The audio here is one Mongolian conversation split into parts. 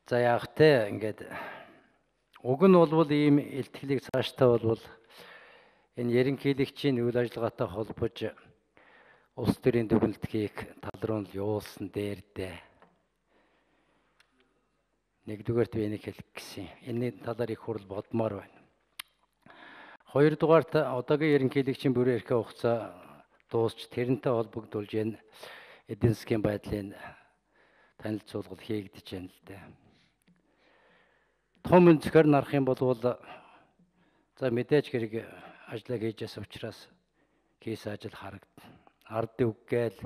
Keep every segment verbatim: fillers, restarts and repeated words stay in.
За яах вэ? Ингээд уг нь болвол ийм илтгэлийг цаашдаа болвол энэ ерөнхийлөгчийн үйл ажиллагаатай холбож улс төрийн дүгнэлтгийг тал руу нь явуулсан дээр дээ. Нэгдүгээрт би энийг хэлэх гэсэн. Энэний талаар их хурл бодмоор байна. Хоёрдугаарт одоогийн ерөнхийлөгчийн бүрэн эрхээ хугацаа дуусч тэрнтэй холбогдуулж энэ эдийн засгийн байдлын танилцуулгал хийгдэж байна л дээ. Том өнцгөр нарах юм бол за мэдээж хэрэг ажлаа хийж яс учраас кейс ажил харагдана. Ард үггээл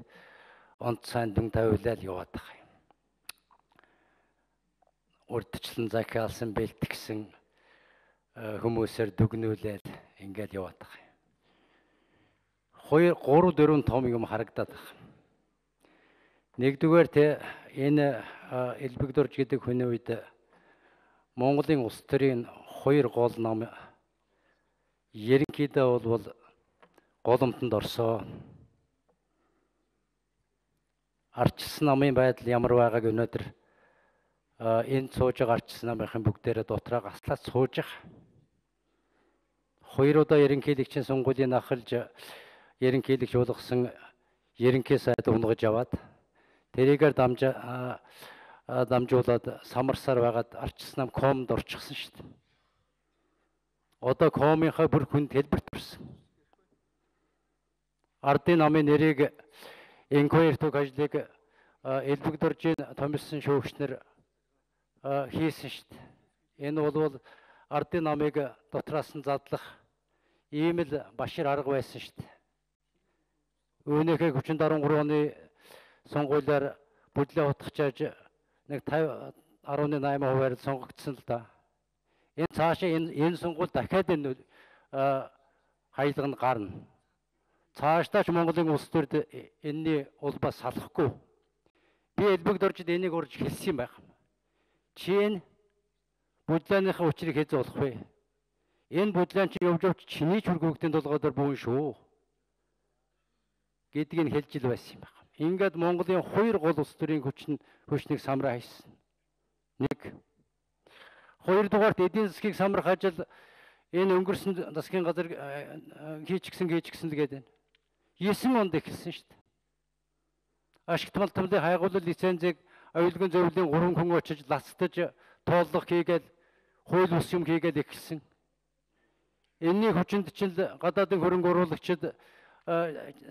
онц сайн дүн тавиулаад яваад байгаа юм. Урдчлан захиалсан бэлтгэсэн хүмүүсээр дүгнүүлээд ингээд яваад байгаа юм. Хоёр, гурав, дөрвөн том юм харагдаад байгаа. Нэгдүгээр те энэ Элбэгдурж гэдэг хүний үед Монголын улс төрийн хоёр гол ном ерөнхийдөө бол голомтонд орсоо. Ардчилсан намын байдал ямар байгааг өнөөдөр энэ сууж байгаа ардчилсан намынхын бүгдээрээ дотроо гаслаад сууж байгаа. Хоёр удаа ерөнхийлөгчийн сонгуулийн ахалж ерөнхийлөгч болгосон ерөнхий сайд унгаж аваад тэрийгээр дамжаа дамжуулаад самарсаар байгаад ардчилсан нам комд орчихсон шүү дээ. Одоо комынхаа бүр хүнд хэлбэрт орсон. Ардын намын нэрийг инквайр төг ажлыг Элбэгдуржийн томилсон шүүгчнэр хийсэн шүү дээ. Энэ бол ардын намыг дотроос нь задлах ийм л башир арга байсан шүү дээ. Үүнийхээ хүчин даруй оны сонгуулиар бүдлээ утгачааж нэг тавин арван найман хувиар сонгогдсон л да. Энэ цаашаа энэ энэ сонгуул дахиад энэ хаялга нь гарна. Цаашдаач Монголын улс төрд энэний улбаас салахгүй. Би Элбэгдуржид энийг урьж хэлсэн юм байна. Чи энэ бүдлээнийхээ учрыг хэзээ болох вэ? Энэ бүдлээн чи явж явж чиний ч хүргөгдөн толгойдор буун шүү гэдгийг хэлж ил байсан юм байна. Ингээд Монголын хоёр гол улс төрийн хүчин хүчнийг самраа хийсэн. Нэг. Хоёрдугаарт эдийн засгийг самрах ажил энэ өнгөрсөн засгийн газар хийчихсэн хийчихсэн л гэдэг. Есен онд эхэлсэн шүү дээ. Ашигт малтмлын хайгуулал лицензийг аюулгүй зөвлөлийн гурван хүн очиж лацтаж тооллого хийгээд хууль ус юм хийгээд эхэлсэн. Энэний хүчинд чинь гадаадын хөрөнгө оруулагчид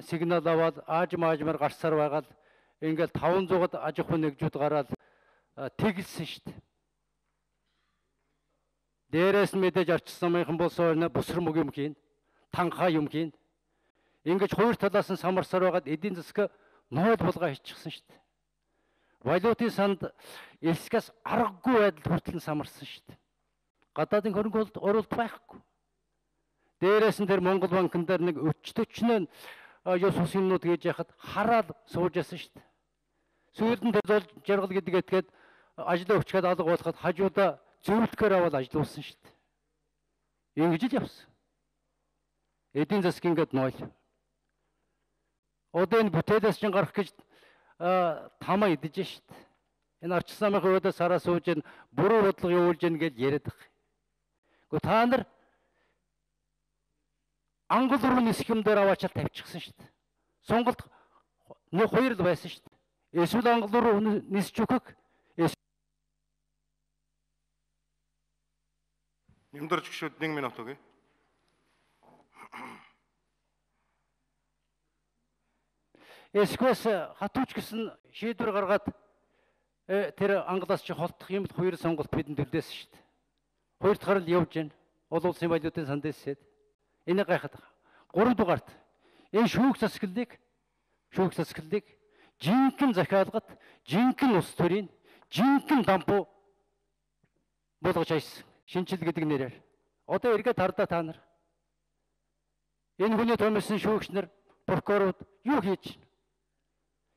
сигнал аваад ааж маажмаар гарсаар байгаад ингээл таван зуугаад аж ахуй нэгжүүд гараад тэгэлсэн шүү дээ. Дээрээс нь мэдээж ардчилсан намынхан болсоо бусар мөг юм хийн, танхаа юм хийн. Ингэж хоёр талаас нь самарсаар байгаад эдийн засаг ноол булгаа хийчихсэн шүү дээ. Валютын санд элсгээс аргагүй байдалд хүртэл нь самарсан шүү дээ. Гадаадын хөрөнгө оруулалт байхгүй. Дээрээс нь тэр Монгол банкн дээр нэг өчтөчнөө ёс ус юмнууд хийж яхад хараад сууж ясан шүү дээ. Сүүлд нь тэр жаргал гэдэг этгээд ажлаа өчгээд алга болоход хажуудаа зөвлөхөр аваад ажиллуулсан шүү дээ. Ингэж л явсан. Эдийн засаг ингээд нойл. Одоо энэ бүтээлээс чинь гарах гэж тамаа идэж шүү дээ. Энэ ардчилсан намын хувьд сараа сууж ин буруу бодлого явуулж ин гэж яриад байгаа. Гэхдээ та нар ангол руу нисэх юм дээр аваачаал тавьчихсан шүү дээ. Сонголт нэг хоёр л байсан шүү дээ. Эсвэл ангол руу нисэж өгөх. Нэмдэрч гişүүд нэг минут өгье. Эсвэс хатууч гэсэн шийдвэр гаргаад тэр англаас чи холдох юм л хоёр сонголт бидэнд төлдөөсөн шүү дээ. Хоёр дахь л явж байна. Олон улсын валютын санд эсээд энийг гайхаад байгаа. Гурав дугаарт энэ шүүх засаглалыг шүүх засаглалыг жинхэнэ захиалгат, жинхэнэ улс төрийн, жинхэнэ дампуу болгож хайсан. Шинжил гэдэг нэрээр. Одоо эргээд хардаа та нар. Энэ хүний томилсон шүүгчнэр, прокурорууд юу хийж байна?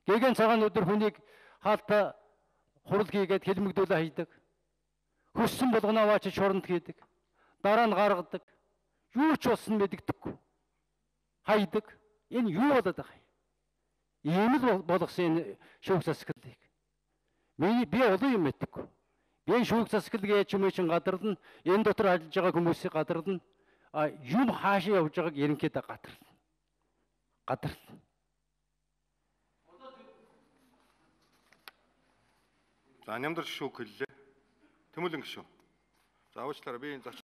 Гэгэн цагаан өдөр хүнийг хаалтаа хурал хийгээд хэлмэгдүүлээ хайдаг. Хөссөн болгоно аваачиж шоронд хийдэг. Дараа нь гаргадаг. Юу ч болсон мэддэггүй. Хайдаг. Энэ юу болоод байгаа юм? Ийм л болгосон энэ шүүх засаглалыг. Миний би олон юм мэддэггүй. Би энэ шүүх засаглал гэж юм чинь гадарлана. Энэ дотор ажиллаж байгаа хүмүүсийг гадарлана. А юм хаашаа явж байгааг ерөнхийдөө гадарлана. Гадарлана. За нямдар гişүү хэллээ. Тэмүүлэн гişүү. За уучлаарай би энэ